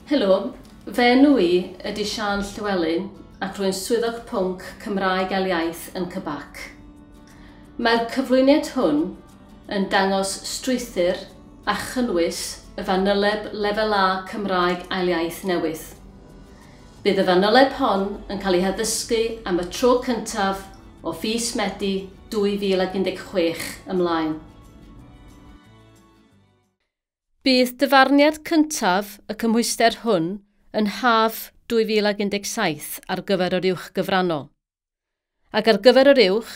Helo, fy enw i ydy Siân Llywelyn ac rwy'n swyddog pwnc Cymraeg ail Iaith yn CBAC. Mae'r cyflwyniad hwn yn dangos strwythur a chynnwys y fanyleb Lefel A Cymraeg Ail Iaith newydd. Bydd y fanyleb hon yn cael ei haddysgu am y tro cyntaf o fis Medi 2016 ymlaen. Bydd dyfarniad cyntaf y cymhwyster hwn yn haf 2017 ar gyfer yr uwch gyfrannol. Ac ar gyfer yr uwch,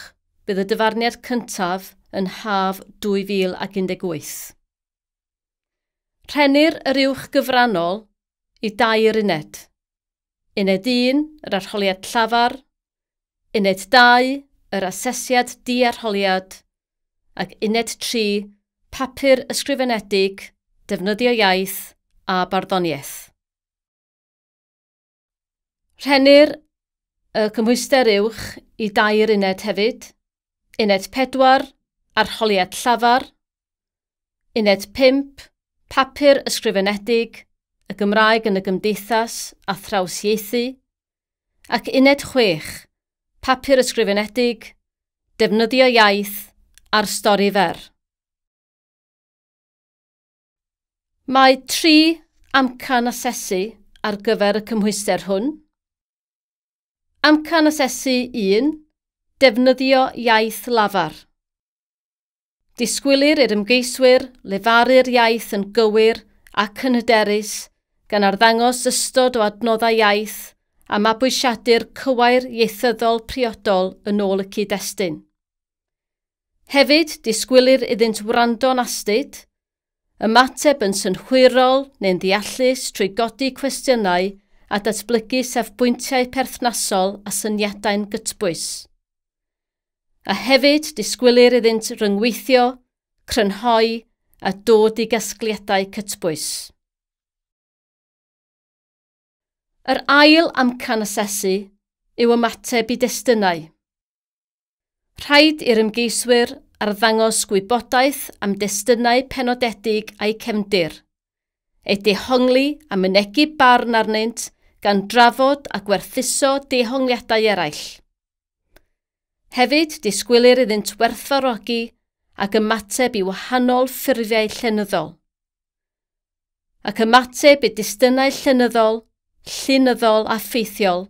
bydd y dyfarniad cyntaf yn haf 2018. Rhennir yr uwch gyfrannol i dair uned. Uned 1, yr arholiad llafar, Uned 2, yr asesiad di-arholiad, ac Uned 3, papur ysgrifenedig, defnyddio iaith a barddoniaeth. Rhennir y cymhwyster uwch i dair uned hefyd. Uned 4, arholiad llafar. Uned 5, papur ysgrifenedig, y Gymraeg yn y gymdeithas a thrawsieithu. Ac uned 6, papur ysgrifenedig, defnyddio iaith a'r stori fer. Mae 3 amcan asesu ar gyfer y cymhwyster hwn. Amcan asesu 1, defnyddio iaith lafar. Disgwylir i'r ymgeiswyr lefaru'r iaith yn gywir ac yn hyderus gan arddangos ystod o adnoddau iaith a mabwysiadu'r cywair ieithyddol priodol yn ôl y cyd-destun. Hefyd, disgwylir iddynt wrando'n astud, ymateb yn synhwyrol neu'n ddeallus trwy godi cwestiynau a datblygu safbwyntiau perthnasol a syniadau'n gytbwys. A hefyd disgwylir iddynt ryngweithio, crynhoi a dod i gasgliadau cytbwys. Yr ail amcan asesu yw ymateb i destunau. Rhaid i'r ymgeiswyr arddangos gwybodaeth am destunau penodedig a'u cefndir, eu dehongli a mynegi barn arnynt gan drafod a gwerthuso dehongliadau eraill. Hefyd, disgwylir iddynt werthfawrogi ac ymateb i wahanol ffurfiau llenyddol. Ac ymateb i destunau llenyddol, llinyddol a ffeithiol,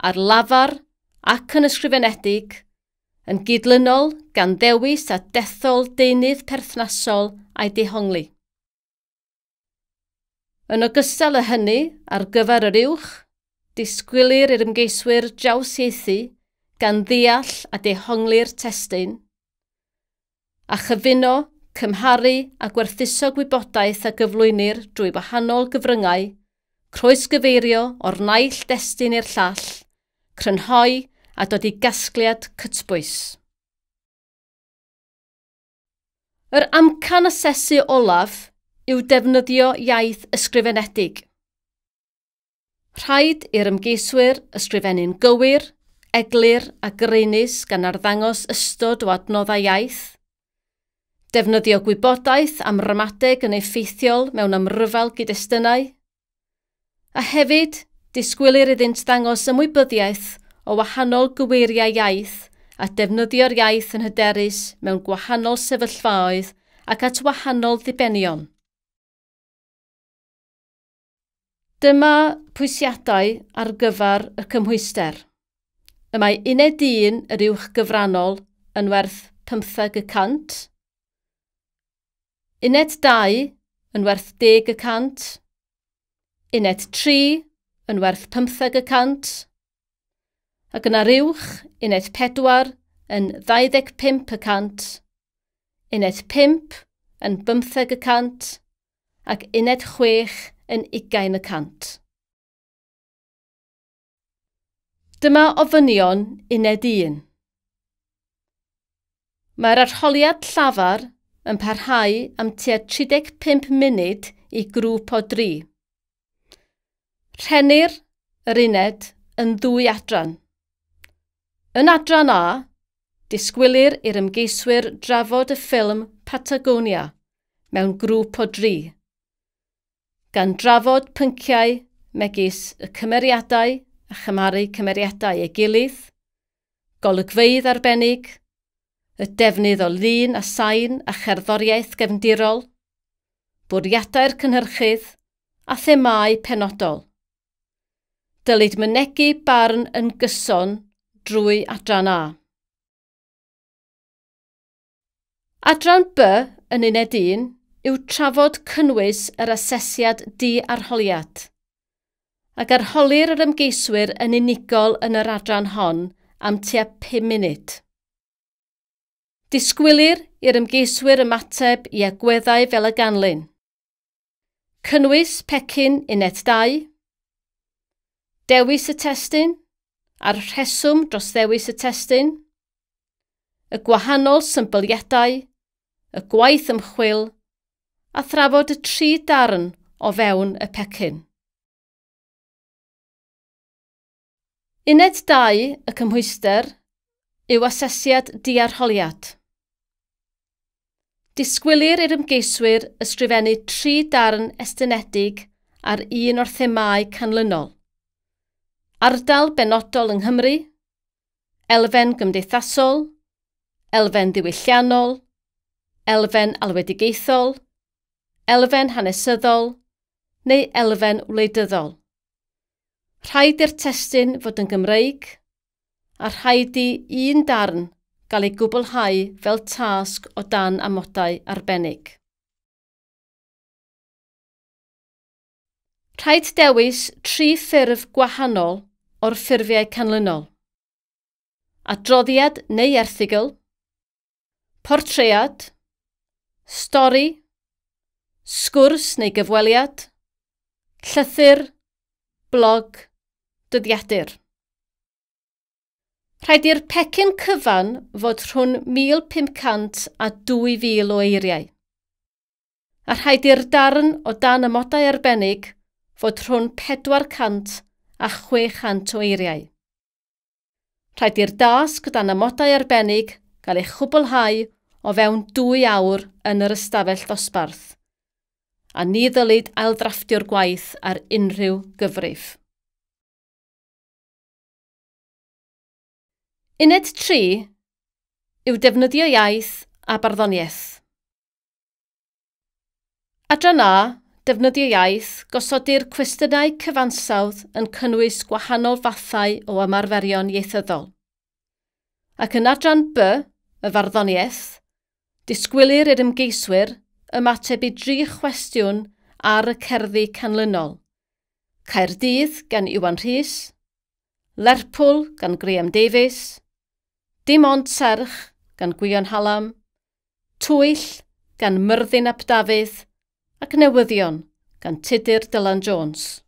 ar lafar ac yn ysgrifenedig, yn gydlynol gan ddewis a dethol deunydd perthnasol a'i dehongli. Yn ogystal â hynny, ar gyfer yr uwch, disgwylir i'r ymgeiswyr drawsieithu gan ddeall a dehongli'r testun, a chyfuno, cymharu a gwerthuso gwybodaeth a gyflwynir drwy wahanol gyfryngau, croesgyfeirio o'r naill destun i'r llall, crynhoi a dod i gasgliad cytbwys. Yr amcan asesu olaf yw defnyddio iaith ysgrifenedig. Rhaid i'r ymgeiswyr ysgrifennu'n gywir, eglur a graenus gan arddangos ystod o adnoddau iaith, defnyddio gwybodaeth am ramadeg yn effeithiol mewn amryfal gyd-destunau, a hefyd disgwylir iddynt ddangos ymwybyddiaeth o wahanol gyweiriau iaith a defnyddio'r iaith yn hyderus mewn gwahanol sefyllfaoedd ac at wahanol ddibenion. Dyma pwysiadau ar gyfer y cymhwyster. Y mae uned 1 yr uwch gyfrannol yn werth 15%, uned 2 yn werth 10%, uned 3 yn werth 15%, ac yna'r uwch, uned 4 yn 25%, uned 5 yn 15% ac uned 6 yn 20%. Dyma ofynion uned 1. Mae'r arholiad llafar yn parhau am tua 35 munud i grŵp o 3. Rhennir yr uned yn ddwy adran. Yn adran A, disgwylir i'r ymgeiswyr drafod y ffilm Patagonia mewn grŵp o 3. gan drafod pynciau megis y cymeriadau a chymharu cymeriadau ei gilydd, golygfeydd arbennig, y defnydd o lun a sain a cherddoriaeth gefndirol, bwriadau'r cynhyrchydd a themâu penodol. Dylid mynegi barn yn gyson drwy adran A. Adran B yn uned 1 yw trafod cynnwys yr asesiad di-arholiad, ac arholir yr ymgeiswyr yn unigol yn yr adran hon am tua 5 munud. Disgwylir i'r ymgeiswyr ymateb i agweddau fel y ganlyn. Cynnwys pecyn uned 2, dewis y testun a'r rheswm dros ddewis y testun, y gwahanol symbyliadau, y gwaith ymchwil, a thrafod y 3 darn o fewn y pecyn. Uned 2 y cymhwyster yw asesiad diarholiad. Disgwylir i'r ymgeiswyr ysgrifennu 3 darn estynedig ar un o'r themâu canlynol. Ardal benodol yng Nghymru, elfen gymdeithasol, elfen ddiwylliannol, elfen alwedigaethol, elfen hanesyddol neu elfen wleidyddol. Rhaid i'r testun fod yn Gymreig, a rhaid i un darn gael ei gwblhau fel tasg o dan amodau arbennig. Rhaid dewis 3 ffurf gwahanol o'r ffurfiau canlynol. Adroddiad neu erthygl, portread, stori, sgwrs neu gyfweliad, llythyr, blog, dyddiadur. Rhaid i'r pecyn cyfan fod rhwng 1,500 a 2,000 o eiriau. A rhaid i'r darn o dan amodau arbennig fod rhwng 400 a 600 o eiriau. Rhaid i'r dasg dan amodau arbennig gael ei chwblhau o fewn 2 awr yn yr ystafell ddosbarth, a ni ddylid ailddrafftio'r gwaith ar unrhyw gyfrif. Uned 3 yw defnyddio iaith a barddoniaeth. Adran A, defnyddio iaith, gosodir cwestiynau cyfansawdd yn cynnwys gwahanol fathau o ymarferion ieithyddol. Ac yn adran B, y farddoniaeth, disgwylir i'r ymgeiswyr ymateb i 3 chwestiwn ar y cerddi canlynol. Caerdydd gan Iwan Rhys, Lerpwl gan Graham Davies, Dim Ond Serch gan Gwion Hallam, Twyll gan Myrddin ap Dafydd ac Newyddion gan Tudur Dylan Jones.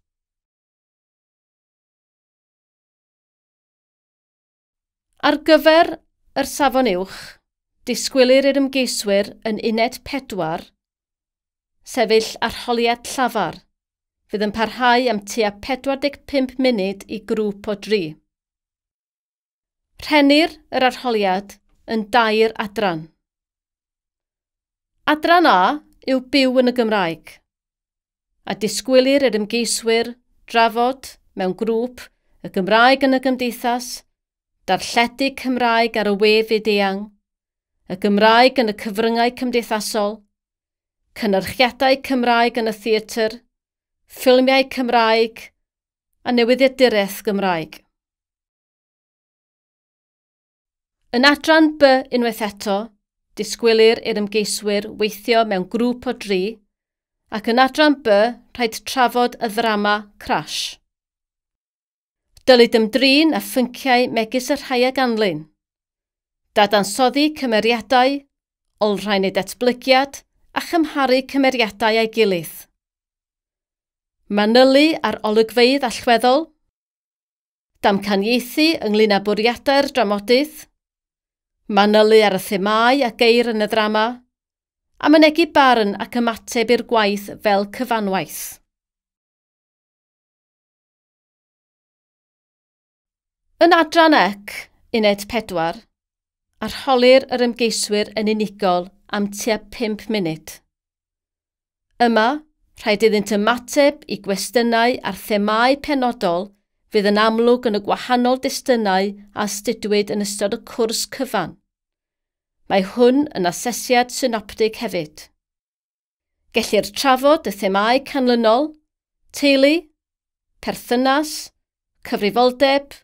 Ar gyfer yr safon uwch, disgwylir i'r ymgeiswyr yn uned 4 sefyll arholiad llafar, fydd yn parhau am tua 45 munud i grŵp o 3. Rhennir yr arholiad yn 2 adran. Adran A yw byw yn y Gymraeg, a disgwylir i'r ymgeiswyr drafod mewn grŵp y Gymraeg yn y gymdeithas, darlledu Cymraeg ar y we fyd-eang, y Gymraeg yn y cyfryngau cymdeithasol, cynyrchiadau Cymraeg yn y theatr, ffilmiau Cymraeg a newyddiaduraeth Gymraeg. Yn adran B unwaith eto, disgwylir i'r ymgeiswyr weithio mewn grŵp o 3, ac yn adran B rhaid trafod y ddrama Crash. Dylid ymdrin â phynciau megis y rhai a ganlyn. Dadansoddi cymeriadau, olrhain eu datblygiad a chymharu cymeriadau â'i gilydd. Manylu ar olygfeydd allweddol, damcaniaethu ynglŷn â bwriadau'r dramodydd, manylu ar y themâu a geir yn y ddrama, a mynegi barn ac ymateb i'r gwaith fel cyfanwaith. Yn adran C, uned 4, arholir yr ymgeiswyr yn unigol am tua 5 munud. Yma, Rhaid iddynt ymateb i gwestiynau ar themâu penodol fydd yn amlwg yn y gwahanol destunau a astudiwyd yn ystod y cwrs cyfan. Mae hwn yn asesiad synoptig hefyd. Gellir trafod y themâu canlynol: teulu, perthynas, cyfrifoldeb,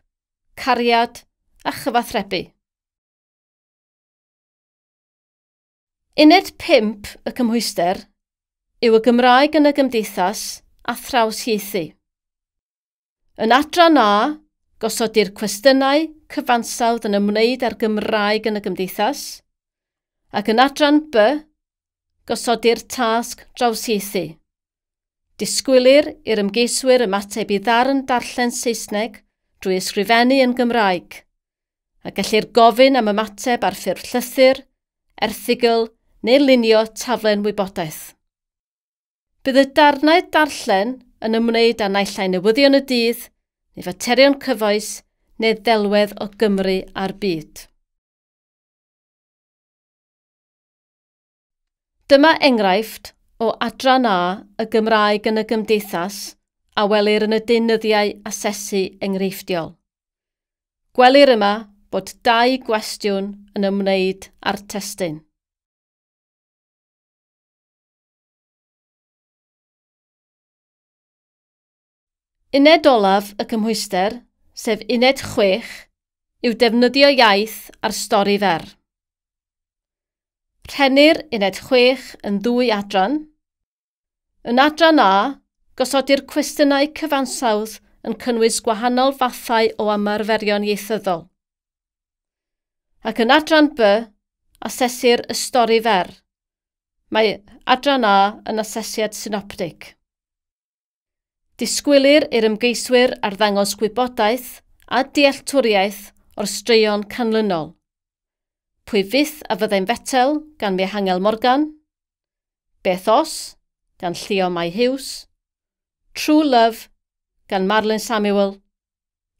cariad a chyfathrebu. Uned 5 y cymhwyster yw y Gymraeg yn y Gymdeithas a thrawsieithu. Yn adran A, gosodir cwestiynau cyfansawdd yn ymwneud â'r Gymraeg yn y Gymdeithas, ac yn adran B, gosodir tasg drawsieithu. Disgwylir i'r ymgeiswyr ymateb i ddarn darllen Saesneg drwy ysgrifennu yn Gymraeg, a gellir gofyn am ymateb ar ffurf llythyr, erthygl neu lunio taflen wybodaeth. Bydd y darnau darllen yn ymwneud â naill ai newyddion y dydd, neu faterion cyfoes, neu ddelwedd o Gymru a'r byd. Dyma enghraifft o adran A y Gymraeg yn y Gymdeithas a welir yn y deunyddiau asesu enghreifftiol. Gwelir yma bod 2 gwestiwn yn ymwneud â'r testun. Uned olaf y cymhwyster, sef uned 6, yw defnyddio iaith a'r stori fer. Rhennir uned 6 yn 2 adran. Yn adran A, gosodir cwestiynau cyfansawdd yn cynnwys gwahanol fathau o ymarferion ieithyddol. Ac yn adran B, asesir y stori fer. Mae adran A yn asesiad synoptig. Disgwylir i'r ymgeiswyr arddangos gwybodaeth a dealltwriaeth o'r straeon canlynol. Pwy fyth a fyddai'n fetel gan Mihangel Morgan, Beth Os gan Llio Mai Hughes, True Love gan Marlon Samuel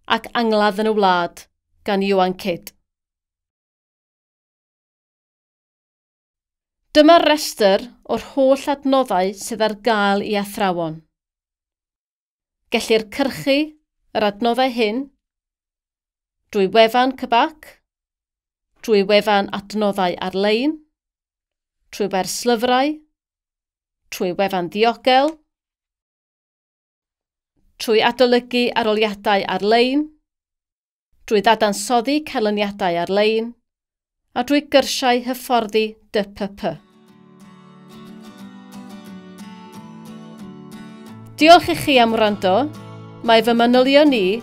ac Angladd yn y Wlad gan Ioan Kidd. Dyma'r restr o'r holl adnoddau sydd ar gael i athrawon. Gellir cyrchu yr adnoddau hyn drwy wefan CBAC, drwy wefan adnoddau ar-lein, trwy werslyfrau, trwy wefan ddiogel, trwy adolygu arholiadau ar-lein, drwy ddadansoddi canlyniadau ar-lein, a drwy gyrsiau hyfforddi DPP. Diolch i chi am wrando. Mae fy manylion i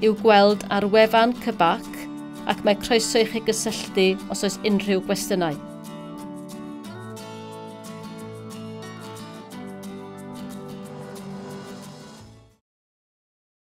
i'w gweld ar wefan CBAC ac mae croeso i chi gysylltu os oes unrhyw gwestiynau.